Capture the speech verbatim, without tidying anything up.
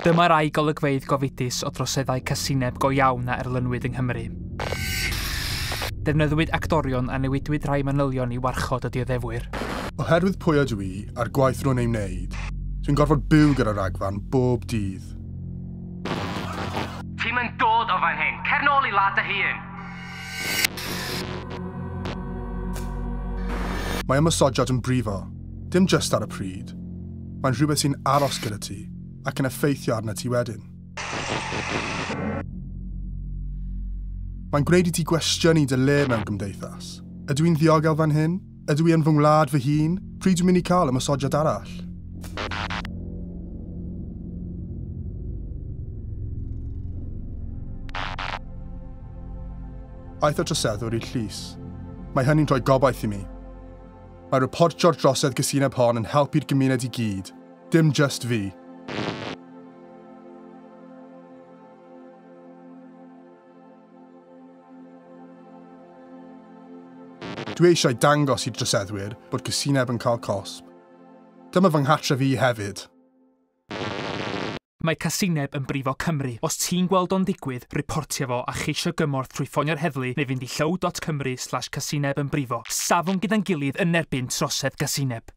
Dyma rai golygfeydd gofidus o droseddau casineb go iawn a erlynwyd yng Nghymru. Defnyddiwyd actorion a newidwyd rhai manylion i warchod y dioddefwyr. Oherwydd pwy ydw i a'r gwaith rwy'n ei wneud, dwi'n gorfod byw gyda rhagfarn bob dydd. Ti'm yn dod o fan hyn, cer nôl i wlad dy hun! Mae ymosodiad yn brifo, dim jyst ar y pryd. Mae'n rhywbeth sy'n aros gyda ti ac yn effeithio arna ti wedyn. Mae'n gwneud i ti gwestiynu dy le mewn gymdeithas. Ydw i'n ddiogel fan hyn? Ydw i yn fy ngwlad fy hun? Pryd dwi'n mynd i cael ymosodiad arall? Aeth y troseddwr i'r llys. Mae hynny'n rhoi gobaith i mi. Mae reportio'r drosedd gasineb hon yn helpu'r gymuned i gyd, dim jyst fi. Dwi eisiau dangos i'r droseddwyr bod casineb yn cael cosb. Dyma fy nghartref i hefyd. Mae casineb yn brifo Cymru. Os ti'n gweld o'n digwydd, reportio fo a cheisio gymorth trwy ffonio'r heddlu neu fynd i llyw dot cymru slash casineb yn brifo. Safwn gyda'n gilydd yn erbyn trosedd gasineb.